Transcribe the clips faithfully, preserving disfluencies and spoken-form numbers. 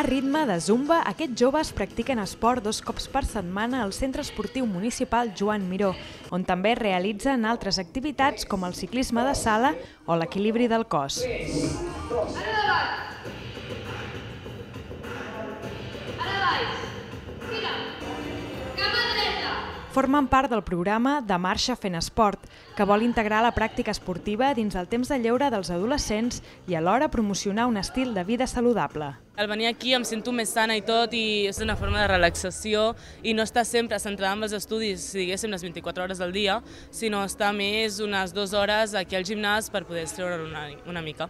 A ritme de zumba, aquests joves practiquen esport dos cops per setmana al Centre Esportiu Municipal Joan Miró, on també realitzen altres activitats com el ciclisme de sala o l'equilibri del cos. Formen part del programa de Marxa Fent Esport, que vol integrar la pràctica esportiva dins el temps de lleure dels adolescents i alhora promocionar un estil de vida saludable. Al venir aquí em sento més sana i tot, i és una forma de relaxació i no estar sempre centrada en els estudis, diguéssim, les vint-i-quatre hores del dia, sinó estar més unes dues hores aquí al gimnàs per poder estreure una, una mica.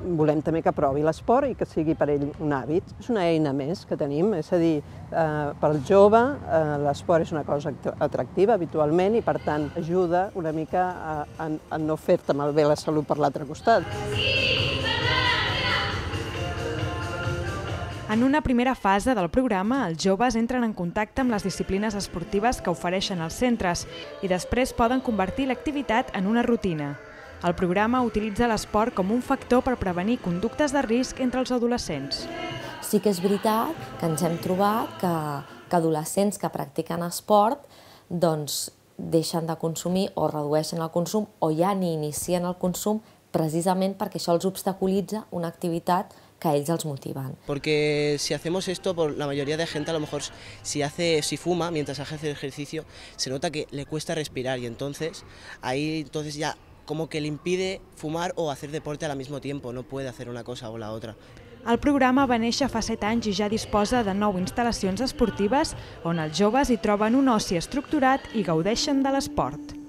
Volem també que provi l'esport i que sigui per ell un hàbit. És una eina més que tenim, és a dir, eh, per al jove eh, l'esport és una cosa atractiva habitualment i per tant ajuda una mica a, a, a no fer-te malbé la salut per l'altre costat. En una primera fase del programa, els joves entren en contacte amb les disciplines esportives que ofereixen els centres i després poden convertir l'activitat en una rutina. El programa utilitza l'esport com un factor per prevenir conductes de risc entre els adolescents. Sí que és veritat que ens hem trobat que, que adolescents que practiquen esport doncs, deixen de consumir o redueixen el consum o ja ni inicien el consum precisament perquè això els obstaculitza una activitat que a ells els motiven. Porque si hacemos esto, por la mayoría de gente a lo mejor si hace, si fuma mientras hace el ejercicio, se nota que le cuesta respirar y entonces ahí entonces ya como que le impide fumar o hacer deporte al mismo tiempo, no puede hacer una cosa o la otra. El programa va néixer fa set anys i ja disposa de nou instal·lacions esportives on els joves hi troben un oci estructurat i gaudeixen de l'esport.